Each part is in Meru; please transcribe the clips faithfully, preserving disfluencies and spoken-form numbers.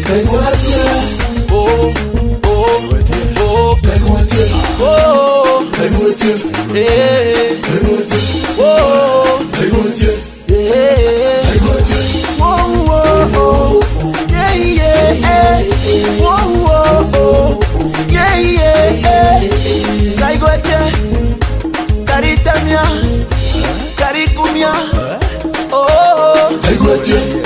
Kaigwatia. Oh, oh, oh. Kaigwatia. Oh. Kaigwatia. Eh. Kaigwatia. Oh. Kaigwatia. Yeah. Whoa, whoa, oh. Yeah, yeah, yeah. Whoa, whoa, oh. Yeah, yeah, yeah. Kaigwete. Karitamia. Karikumia. Oh, oh, oh. Kaigwete.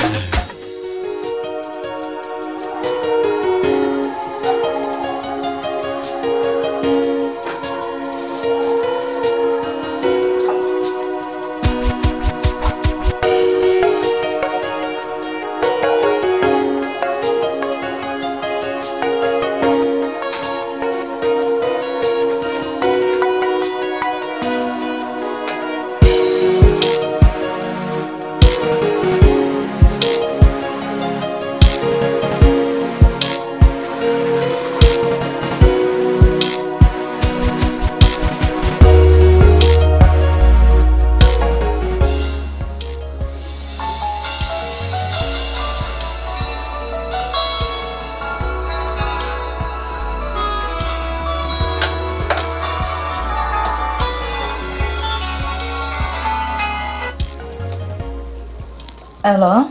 Hello?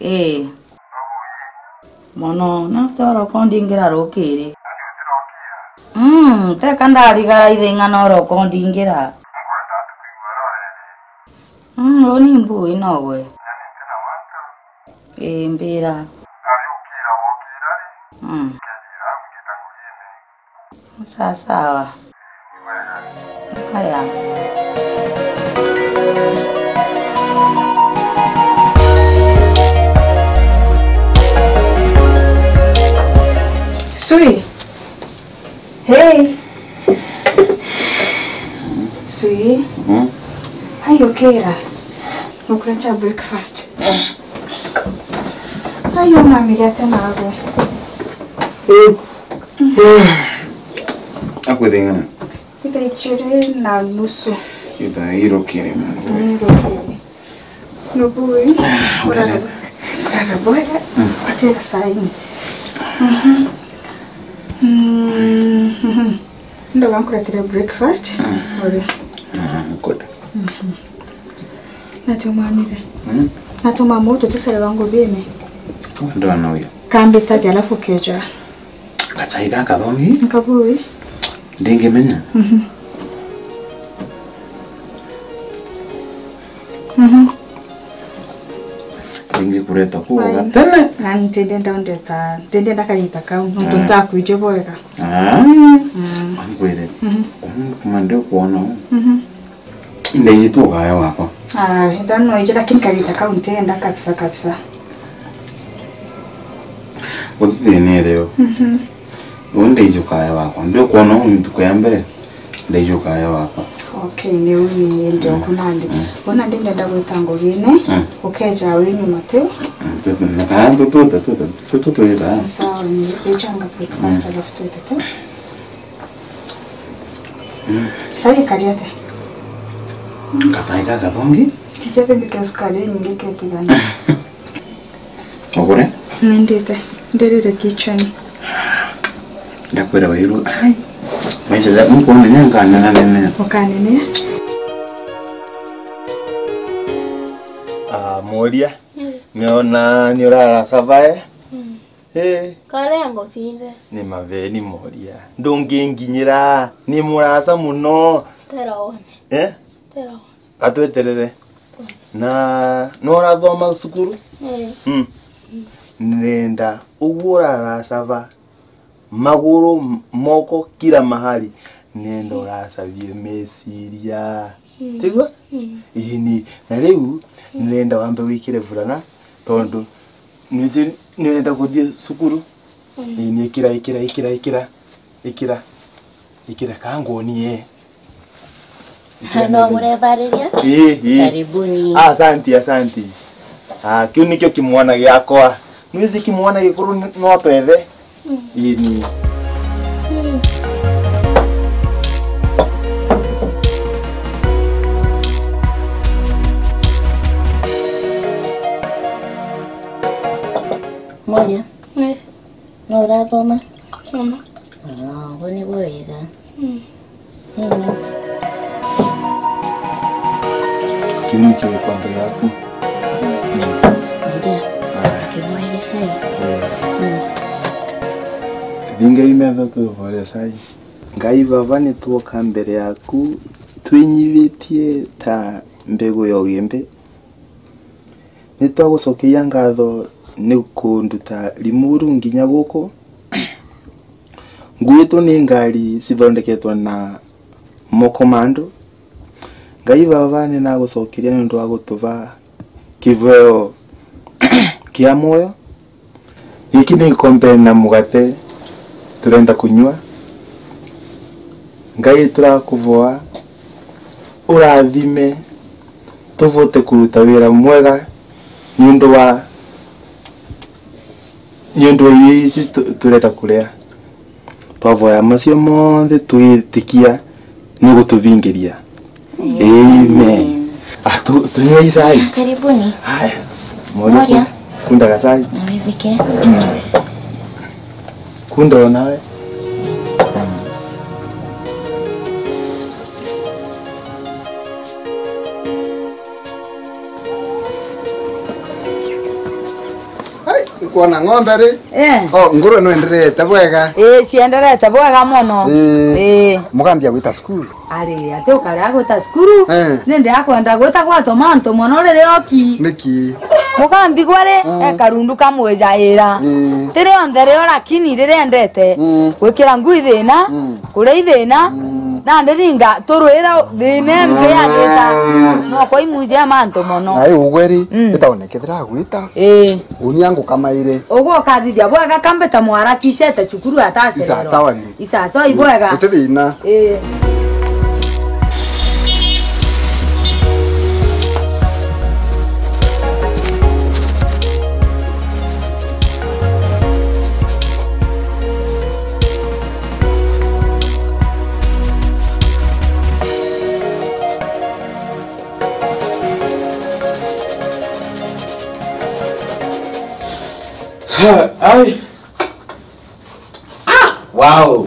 Ii. Mono, na toro kondingira rukiri. Mm, teka ndarigara ithing'ana oro kondingira. Mm, uni mbui nogwe. Ii, mbira. Mm. Sawa sawa. Haya. Sweet. Hey. Sweet. Mm. Are you okay? Nikuletea breakfast. Ayo, mami, atia nawe? Akwithing'ana? Ithaa ijiri na nusu. Ithaa irukiri mono. Irukiri. Nubui. Urara, urara bwega. Mm. Atera saini. Mhm. Mm, mhm. Ndoga nkuretere breakfast. Mm. Uri. Ah, good. Mhm. Natio mwamire. Mm. Natio mwamu tuticere bangu bine. Kama ndo ana uyo. Kambitagia alafu keja. Kachai gaka thongi. Nkabui. Ndingimenya. Mhm. Mhm. Ndingikureta kuo gatene. Na ntindenda undeta, ntindenda kagita kau, nontu ntakwije bwega. Ah. Mm. Ankwire. Mhm. Kuma ndi kuona u. Mhm. Ndingi tu ukaya wakwa. Ah, ithano ije, lakini kagita kau ntienda kabisa kabisa. Utithinire u. Mhm. U ndiji ukaya wakwa. Ndi kuona u ntuku ya mbere. Ndiji ukaya wakwa. Okay, ni uni ndi oku nandi. Mm. Bona ndi ndenda gwita ngugine, mm, ukeja wi nyuma tiu. Mm, tu, tu, na kana tu, tu, tu, tu, tu, tu, tu, tu, tu, tu. Sawa, ni tichanga breakfast alafu twite tiu. Sai kari atia? Kasai gaka thongi? Tichete mbike sukari inyingi ketigana. Ugure? Nindite. Ndirire kitchen. Ndakwira wairu. Ai. Maisha ya mko ni nyanka nena nene. Ukanene. Ah, moria. Mm. Niona ni urara savae. Mm. Eh. Kare angocinde. Ni maveni moria. Ndunginginyira, ni murasa muno. Tera one. Eh? Tera one. Atweterere. Tera. Na no urathoma cukuru? Eh. Mm. Nenda uguo urarasava maguru, m-, moko, kila mahali. Nenda urasavie meciria. Mm. Tigua? Mm. Ini. Na riu, mm, nenda wambe wikire vulana, tondu Nisi nirenda kuthie cukuru. Mm. Ii, ni ikira, ikira, ikira, ikira, ikira, ikira, ka nguonie. Ikira no nirenda. Murevariria? Ii, ii. Karibuni. Ah, asanti, asanti. Ah, kiu nikio kimwana giakwa. Nwiji kimwana gikuru ni-, no twethe? Mm. Ii, ni. Mm. Oria. Eh. No urathoma? Thoma. Ah, uguo niguo wega. Mm. Ina. Kiu nikio gikombe giaku. Mm. Ndio. Aya. Kibwaire cai. Eh. Mm. Thingai metho tubore cai. Ngai Baba, ni twoka mbere yaku twinyithitie ta mbegu ya ugimbi. Ni twagucokeria ngatho ni kunduta Limuru nginya guku. Nguitwo ni ngari cithondeketwe na moko ma andu. Ngai Baba, ni nagucokeria niundu wa gutuva kiveo kia mwoyo. Giki ni gikombe na mugate turenda kunyua. Ngai, turakuvoa urathime, tuvote kuruta wira mwega niundu wa, niundu wa irio ici tu-, turenda kuria. Twavoya macio monthe twitikia ni gututhingiria. Amen. Amen. Ah, tu-, tunywe icai. Karibuni. Haya. Moria. Moria. Ku-, kunda gacai. Na withike. Mm. Kunda o nawe. Ai, nkwona ng'ombe ri? Eh. Oh, ngurwe no enderete bwega? Eh, cienderete bwega mono. Eh. Eh. Mugambia gwita cukuru? Ari, ati ukare agwita cukuru? Eh. Nindi akwenda gwita gwatoma antu mono riria oki. Niki? Mugambi gwari, mm, ekarundu kamwijaira. Eh. Ti rionthe rio lakini riria endete, mm, gwikira ngui thina, mm, kuria ithina, mm, nandi ringa turwira thina embi agita. No kwa imuje mantu mono. Na iu ugweri, mm, itaone kethira agwita. Ii. Uni angu kamaire. Uguo ukathithia bwega kambita mwarakicete cukuru atacererwa. Isasawa ni. Isasawa ibwega. Guti thina. Ii. Ha, ai. Ah, wow.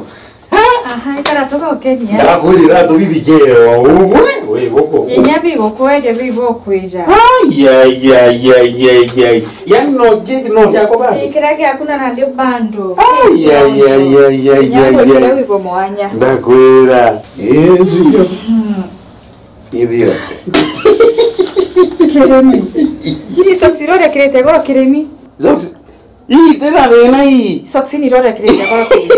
Aha, ikara tugokenia. Ndakwirira tu bibikire o uguo, we, we, guku. Inya bigukweja bibokwija. Ai, ai, ai, ai, ai, ai. Yaani no gig, no giakwa bado. Ikira giaku na nandi bando. Ai, ai, ai, ai, ai, ai, ai. Inya ngwikire wibo mwanya. Ndakwira. Yesu yo. Mm. Ithio. Kirimi. Iri socks iria urekirite goro kirimi. Socks. Ii, tena thina ii. Socks ni iria urekirite goro kirimi.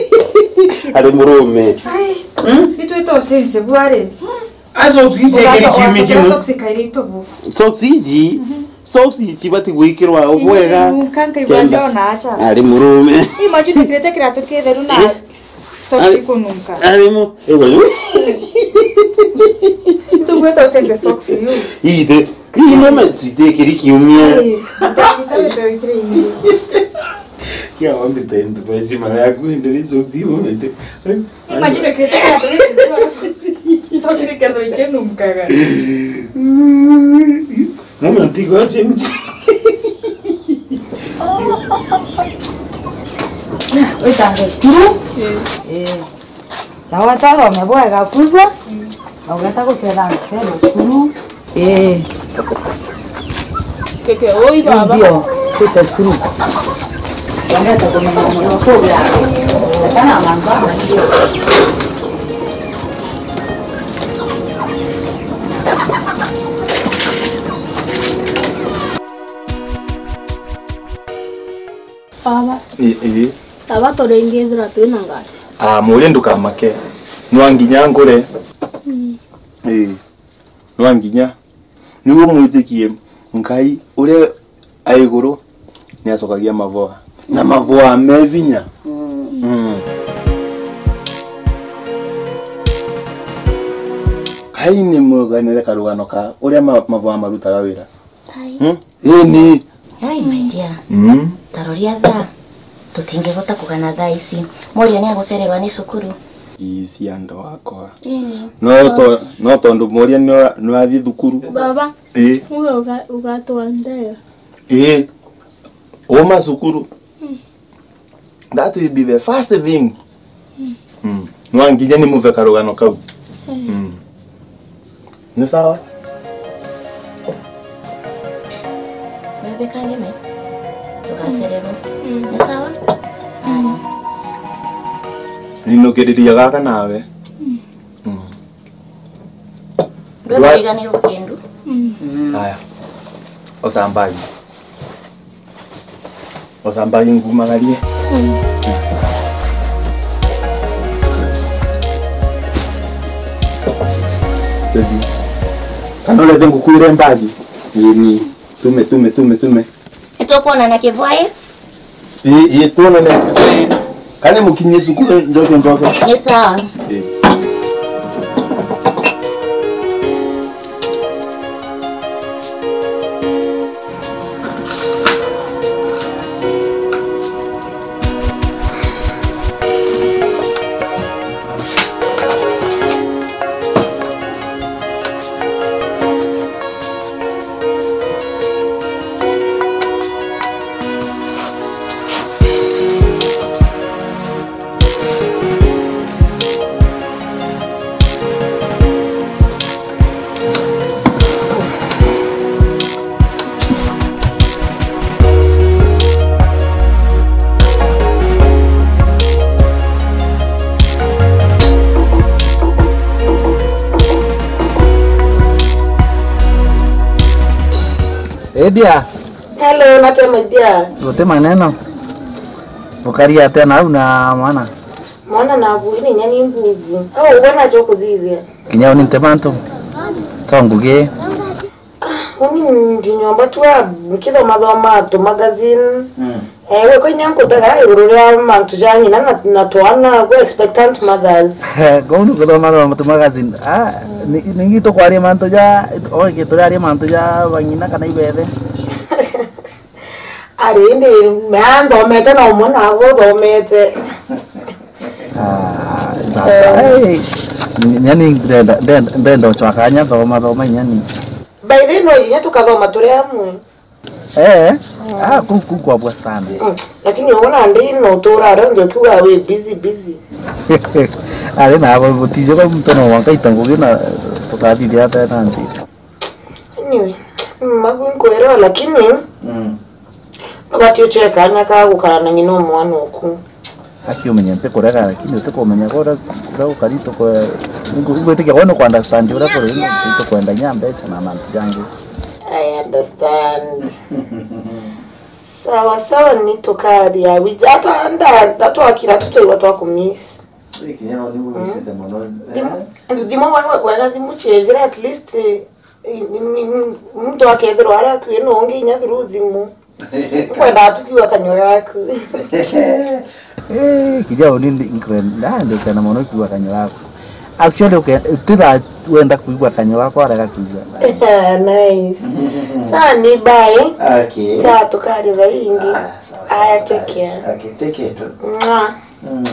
Ari murume. Ai. Hmm? Itwite ucense bwari. A socks ici ekiri kiumia kimwe. Socks kairi itubu. Socks ici. Mhm. Socks ici ibati gwikirwa bwega. Nunka nkaigua ndona acha. Ari murume. Imagine urekirite kiratu kitheru na socks ikununka. Ari mu. Ewa. Tugweta ucenje socks iu. Ithe. Ii no mecite kiri kiumia. Ii, ndagita wite wikire ii. Kia wambi tende basi mara yaku ndiri socks iu mete. Imagine kete ya socks ikeno ikenunkaga. Mama, ntigo change. Witangwe cukuru. Eh. Eh. Na wathome bwega kwigua. Na ugeta gucetha cero cukuru. Eh. Keke, oi baba. Ndio, kwite cukuru. Wendete kumenya mono kuria. Sana mamba. Baba. Ii, ii. Baba, turingithira twina ngari. Ah, muria ndukamake. Nwa nginya ngure. Mm. Ii. Nwa nginya. Niguo mwitikie Ngai uria a iguru ni acokagia mavoa. Na mavoa me vinya. Mm. Mm. Ngai ni muganire karugano ka uria ma-, mavoa marutaga wira. Ai. Hmm? Ini. Ai, my dear. Mm. Taroria thaa. Tutingivota kugana thaa ici. Moria ni agucererwa ni cukuru. Ii cia andu akwa. Ini. No to-, no tondu Moria ni wa-, ni wathii thukuru. Baba. Ii. Uga uga-, ugatwandea. Ii. Uma cukuru. That will be the first thing. Mm. Nwanginya ni muve karugano kau. Mm. Ni sawa? Webekage me? Tugacererwo. Mm. Ni sawa? Mm. Aya. Ninukiriria gaka nawe. Mm. Mm. Ndwe Ndwa- kariganirwo kindu. Mm. Aya. Osambagi. Osambagi ngumagarie. Mm. Tuthi. Kana urete ngukuire mbagi? Ii. Tume, tume, tume, tume. Nitukwonana kivwai. Ii, ii, twonane. Kani mukinyie cukuru, njoke, njoke. Ni sawa. Ii. Edia. Hello, nate my dear. Guti maneno. Ukari atia nau na mwana? Mwana na bui ni nyani mbubu. Au ubona jo kuthithia. Kinya uni nte mantu. To ngugi. Ah, uni ndi nyomba tu a, nkithoma thoma tu magazine. Mm. Eh, we koinya nkutega iguru ria mantu ja ng'ina na, na twana, we expectant mothers. Kounu kuthoma thoma tu magazine. Ah, ni, ningi tukwaria mantu ja, o, ki turaria mantu ja bang'ina kana ibethe. Ari, indi mea nthomete na umwe nawe uthomete. Ah, sasa, eh, hey, nyani ndenda, ndenda, ndenda uchwa kanya thoma, thoma nyani. By the way, no inya tukathoma turi amwe. Eh, ah, ku, ku kwabwa sana. Mm. Lakini uona ndi no tura ro ndio kiuga we busy, busy. Ari na abo butize kwa mtu no wangaita ngugi na tukathithia ata na ndi. Anyway, mm, magu nkwelewa, lakini, mm, nobati uchoe kanya ka gukara na ng'ina o mwana oku. Aki umenya ntikurega, lakini utikumenya kuria, kuria gukari tukwe-, ngu-, ngwitikia gwe nuku understand uria kuri, tukwenda nya mbeca na mantu jangi. I understand. Sawa sawa, ni tukaria wija. Ata nda, nda twakira tu twaigua twakumiss. Ikinya no ni mumisite muno. Thimu, eh? Thimu wega, wega thimu chejira at least, eh, Ni, ni, ni, muntu akethirwa ari akui na ungi inya through thimu. Nkwenda tu kiuga kanyua gaku. Eh, kija uni ndi, nkwenda, ndikena mono kiuga kanyua gaku. Actually, uke-, titha wenda kuigua kanyua gakwa, arega kuigua. Nice. Sawa, ni bye. Okay. Cha tukari thaingi. Ah, sawa, sawa. Aya, take care. Okay, take care too. Mwah. Mm.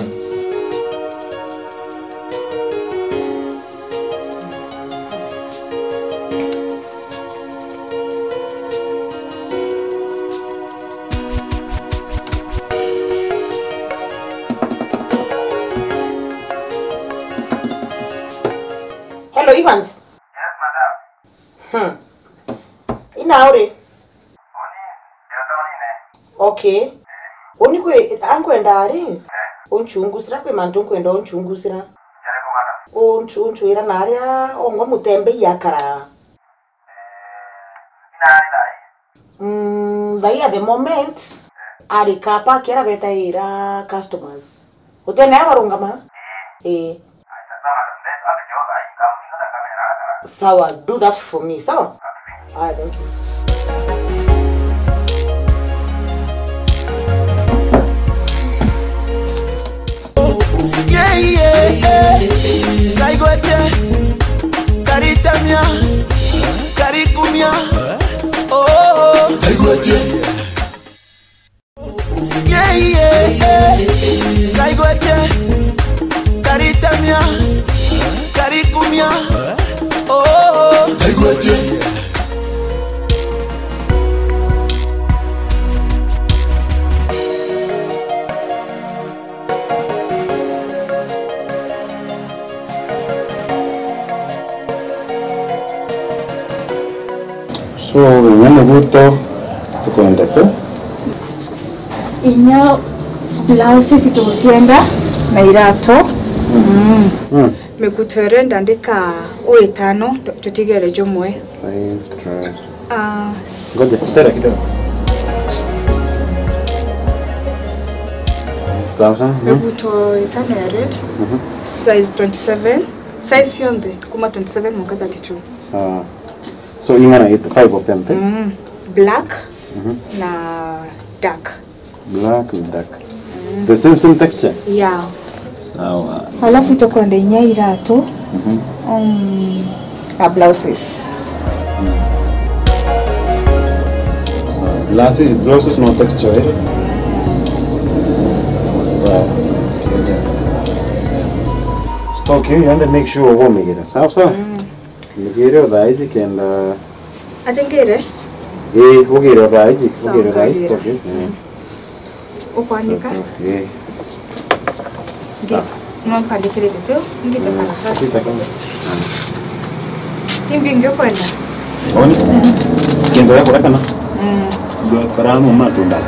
Hello, Evans. Yes, madam. Hmm. Ina uri? Uni, ndio taunine. Okay. Uni kwi, ankwenda ari? Eh. Unchungusira kwi mantu nkwenda unchungusira. Jare kumana. Unchu-, unchwira na aria ongwa mutembei akara. Eh, ina ari thai? Mm, thai at the moment, eh, ari car park aria betaira customers. Utene aria barungama? Eh. Eh. Sawa, do that for me, sawa? Ah, thank you. Yeah, yeah, yeah. Kaigwete, karitamia, karikumia. Oh, kaigwete. Yeah, yeah, yeah. Kaigwete, karitamia, karikumia. Oh, kaigwete. Miguto tukwendete. Inya blouses tugucienda na irato. Mm. Mm. Miguto irenda ndika u itano, tutigere jumwe. Five, twelve. Ah, s- Ngoja, tera kidogo. Sawa, sawa. Mhm. Miguto itano ya red. Mhm. Size twenty-seven. Size cionthe kuma twenty-seven mwanka thirty-two. Sawa. So, ing'ana it, five of them, te? Mm. Black Mhm. na dark. Black na dark. The same, same texture? Yeah. Sawa. Alafu itakwenda inya iratu. Mhm. Um, a blouses. Sawa. Blouses, blouses no texture, eh? Sawa. Stock hiyo iende, make sure ugomegira. Sawa, sawa? Mm. Nigire o thaa iji kenda. Ati ngire? Ii, ugire o thaa iji, sawa, ugire o thaa iji, ngagire. Stock, ii. Mm. Ukwanika? Sawa, sawa, ii. Ngi-, sawa. No mpandikirite tu, ngite karatasi. Sita kama. Imbi ngi ukwenda? Oni? Kenda ya kurekana? Mm. Ndio karamu matunda.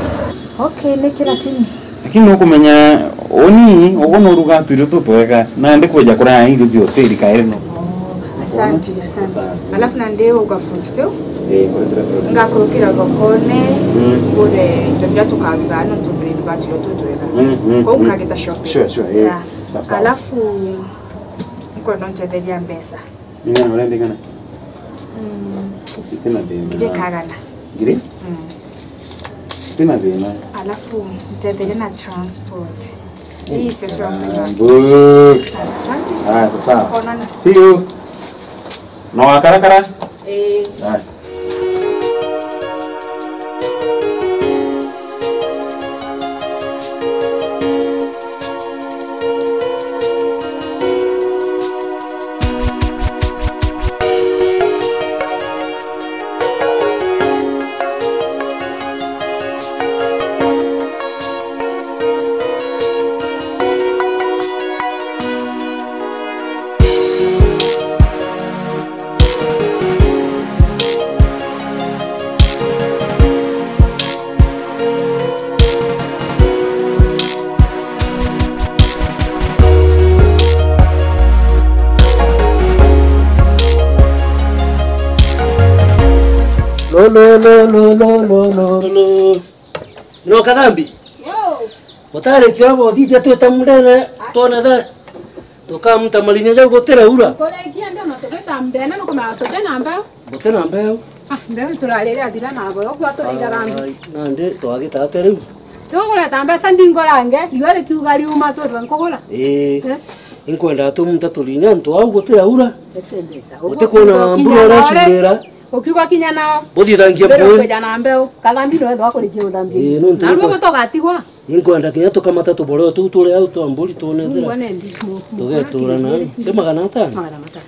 Okay, niki lakini. Lakini nukumenya, uni, ugu nuruga tuirio tutwega, nandi kwija kuria irio bia hoteli kairi no. Oh, asante, asante. Alafu nandi uga fruit tu? Eh, kuretera fruit. Ngakurukira thokone, mm, ngure into biria tukaruga, nontu buri nduga tuirio tutwega. Mm, mm, kou mm. Nkagita shopping. Sure, sure, eh. Yeah. Sawa, sawa. Alafu, nkwenda untetheria mbeca. Ni ng'ana urenda ing'ana? Mm. Itina thina. Ngiri kagana. Ngiri? Mm. Itina thina. Alafu, ntetherie na transport. Hii si transport. Ah, mbu. Sana, asante. Ah, sasa. Onana. See you. No wakarakara? Eh. Ah. Lo, lo, lo. No kathambi? Yo. Utarikia abo thithia twita mundene, twone the. Tukamuta marinya jau gutiraura. Kurikia ndio na tugita mundene, nukumenya tuti na mbeu. Guti na mbeu. Ah, mbeu turarire athira nabo, yo kwa turira rambi. Ai, nandi twagita atia riu? Tugureta mbeca ndingorange, riua rikiuga riuma twithwe nkugura. Ii. Eh? Inkwenda tumunta turinya antu au gutiraura. Ete mbeca. Guti kwona mbura uracurira. Ukiuga kinya nao. Buthithangie mbeu. Mbere kwija na mbeu. Kathambi no ethwa kurikia uthambia. Ii, nuntu. Na ruo gutogatigwa. Inkwenda kinya tukamata tuboreo tuu turi au twa mburi twone thira. Tugetura na. Ti magana atano? Magana matano.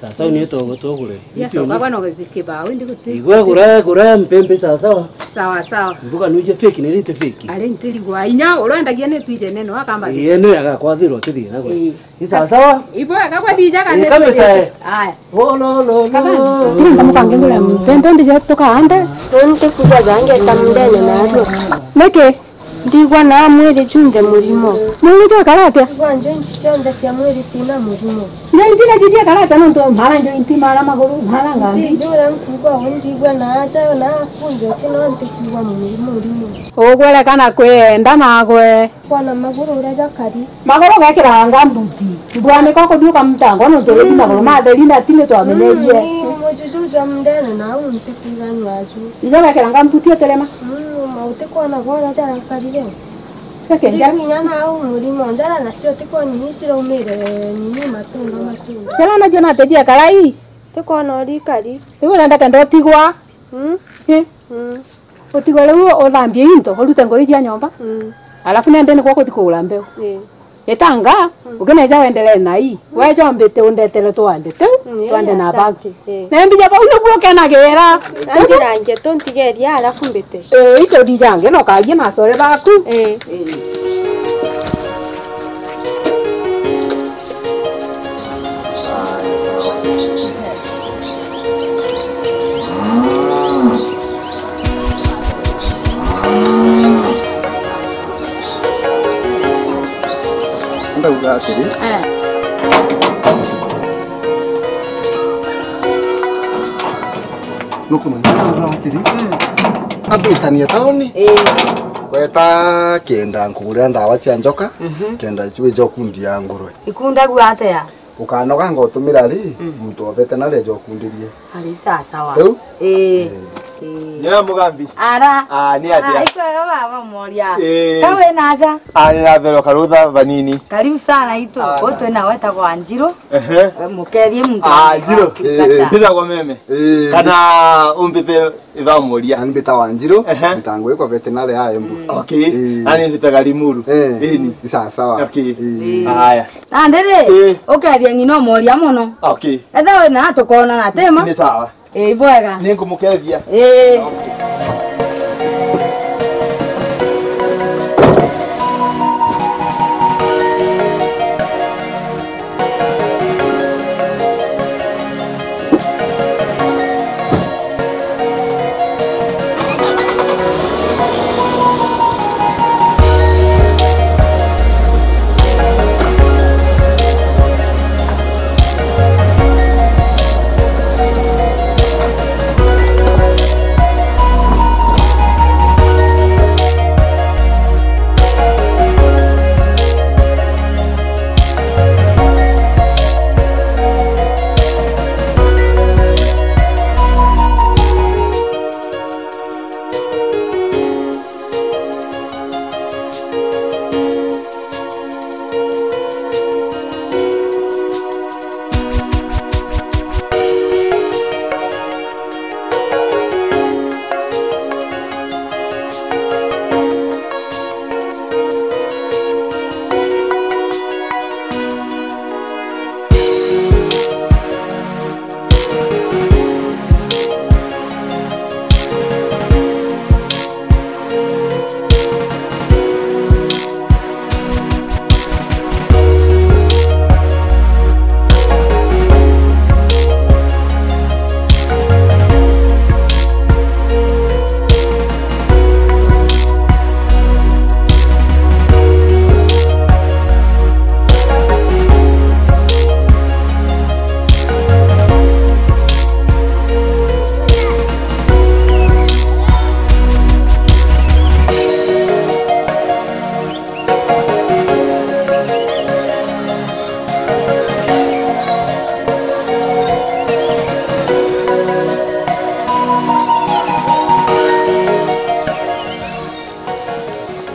Sasa ni togo tugure. Yes, ukagwa no kibao ndi guti. Igwe gura, gura mpembe sawa sawa. Sawa sawa. Mbuga nuje fake ni rite fake. Ari ntirigwa inya urendagia ni twije neno akamba. Ii, ni agakwathirwa kithina gwe. Ii. Ni sawa sawa? Ibo akagwa dija kane. Ii, kambe tae. Aya. Lo, lo, lo, lo. Kiri nkamukange ngure mpembe mbije tukaande. Nonte kuja bange ta mundene narua. Niki? Ndigwa na mwiri junthe murimo. Mwiri jwekara atia? Ndigwa njointi cionthe cia mwiri cina murimo. Njointi na jiji ekara atia nontu mara njointi, mara maguru, mara ngambi? Ntijura nkuuga uu ndigwa na aja na kunthe uti no ntikwigua murimo. Ugwerekana kwienda nagwe. Kwona maguru uria jakari. Maguru gekiraga ngambuti. Mbwanika kuthiuka mtango nontu rigi maguru matheri na tini twamenyerie. Mm, ni mujuju jwa mundene na au ntikwiganywa aju. Ijo gekira ngambuti utirema. Mm, ma utikwona bwona jarakarire. Reke njara. Ndiku inya na au murimo njara nacio tikwoni ni ciraumire nini matunda matunda. Njara nacio natejia karai. Tikwona urikari. Riu urenda kenda utigwa. Mm. Eh? Mm. Utigwe riu uthambie into, urute ngui cia nyomba. Mm. Alafu nende nikwo kuthi kugura mbeu. Ii. Itanga, mm, ukineja wendelee na ii. Mm. Weja mbite undetele twande tu, mm, twande na bagu. Ii. Na mbija bau niguo kenagira. Angi na ngeto ntigeria alafu mbite. Ii, ito dijange no kagie na core baku. Ii. Ii. Uga atiri. Eh. Nukumenya uga atiri. Mm. Atwitania tauni. Eh. Weta kenda nkugurira ndawa cia njoka, mhm, kenda icio ijo kundi ya ngurwe. Ikundagua atia? Ukanoga ngotumira ri, mm, muntu wa veterinary jo kundirie. Ari sawa sawa. Riu? Eh. Eh. Eh. Nyina Mugambi. Ara. Ah, ni atia? Ah, ikwega baba Moria. Eh. Ka wi na aja? Ah, ni na vero karutha vanini. Karibu sana itu. Ah, utwe na weta kwa Njiro. Ehe. Mukethie muntu. Ah, Njiro. Eh. Nditagwa meme. Eh. Kana umbipe Iba Moria. Ani mbitagwa Njiro, ehe, mbitagwa kwa veterinary ya Embu. Mm. Okay. Eh. Ani mbitaga Limuru. Eh. Ini. Ni sawa sawa. Okay. Eh. Haya. Na ndiri, eh, ukethia ng'ina Moria mono. Okay. Etha we na tukona na tema. Ni sawa. Eh, ibwega. Ni nkumukethia. Eh. Okay.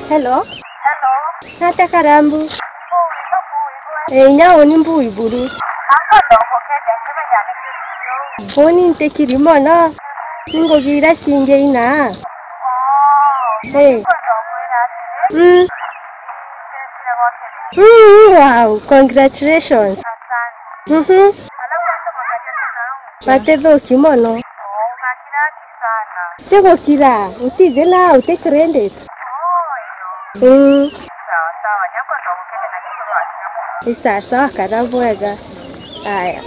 Hello. Hello. Nate Karambu. Mbui, mbui, mbui. Eh, inya uni mbui buru. Uni ntikiri mono. Ningugira cingi ina. Eh. Mm. Mm, wow, congratulations. Mhm. Batithuki mono. Tigukira, utiji na uti credit. Mm. Ni sawa sawa, kara bwega. Aya.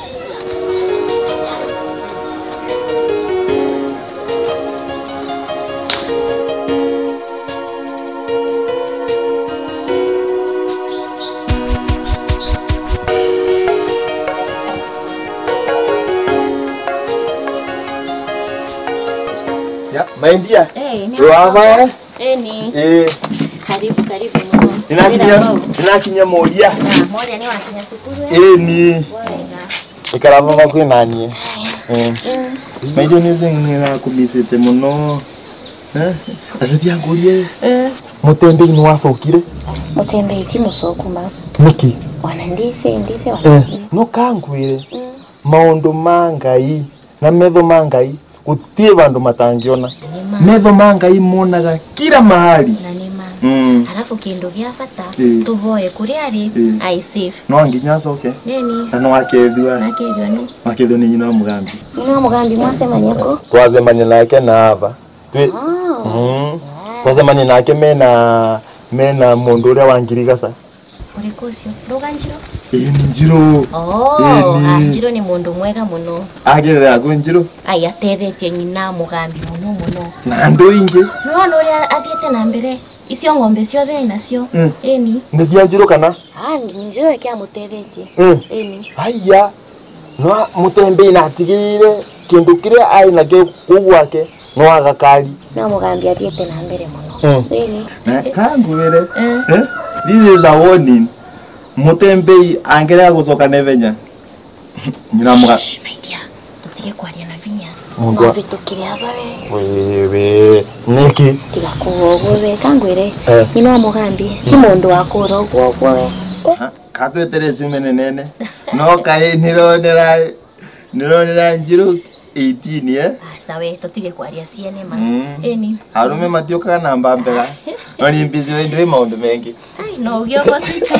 Ya, my dear. Eh, ni waba, eh? Eh, ni. Eh. Karibu, karibu muno. Ninakinya, ninakinya Moria. Ya, Moria ni wakinya cukuru, eh? Eh, ni. Wega. Ikara baba kwi nanie. Eh. Mm. Maithe ni zing ni nakumisite muno. Eh? Atethi angurie. Eh. Mutembei ni wacokire? Mutembei ti mucoku ma. Niki? Wana ndise, ndise wana. Eh. No kangwire. Mm. Maundu ma Ngai na metho ma Ngai guti vandu matangiona. Ni ma. Metho ma Ngai monaga kila mahali. Na ni ma. Mm. Alafu kindu gia bata, ii, tuvoe kuria ari, ii, ai safe. No nginya acoke. Nini? Na no akethua. Akethua ni? Akethua ni nyina wa Mugambi. Nyina wa Mugambi mwacemania ku? Twacemania nake na ava. Twi, ah, mm. Twacemania nake mena, mena mundu uria wa ngirigaca. Uriku ucio? Nduga Njiro? Ii, ni Njiro. Oh, ii, ni. Ah, Njiro ni mundu mwega muno. Agerera kwi Njiro? Ai, atethetie nyina Mugambi muno muno. Na andu ingi? Ni wona uria athiite na mbere? Icio ng'ombe ciothe ainacio. Mm. Ĩni. Nĩ cia Njirũ kana? Ah, Njirũ nĩkĩamutethetie. Mm. Ĩni. Aiya, no Mutembei natigirire kindu kiria ari nakio kuu gwake no agakari. No Mugambi athiite na mbere mono. Mm. Ĩni. Na kangwire, eh, this is a warning. Mutembei angerea gucoka na ihenya. Nyina muga- Shh, my dear, tutige kwaria na vinya. Mundu a- No vitukire ava we. Wewe, niki? Tiga kuuga uguo we, kangwire. Eh. Nyina wa Mugambi, ti mundu wa kuura uguo uguo we. Ha, katwetere simu nenene. No kai nironera, nironera Njirũ eighteen, eh? Aca we, tutige kwaria ciene ma. Mm. Ĩni. Arume matiukaga na mbambega. No ni busy we, ndui maundu mengi. Ai, no ugiogo sita.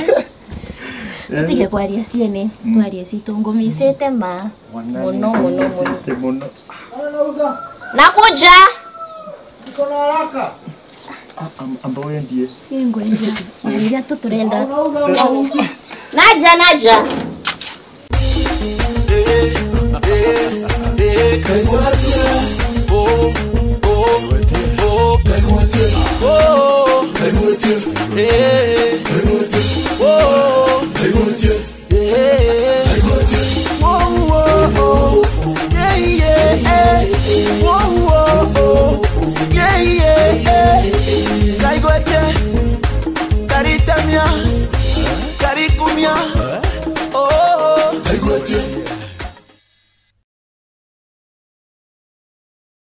Tutige kwaria ciene, mm, twarie citũ, ngũmicĩte ma. Wana mono, mono, mono. Ngũmicĩte mono. Nakuja. Niko na haraka. Ah, am-, amba wendie. Ii, ngwendia. Ngwendia tu turenda. Naja, naja. Kaigwete, karitamia, karikumia.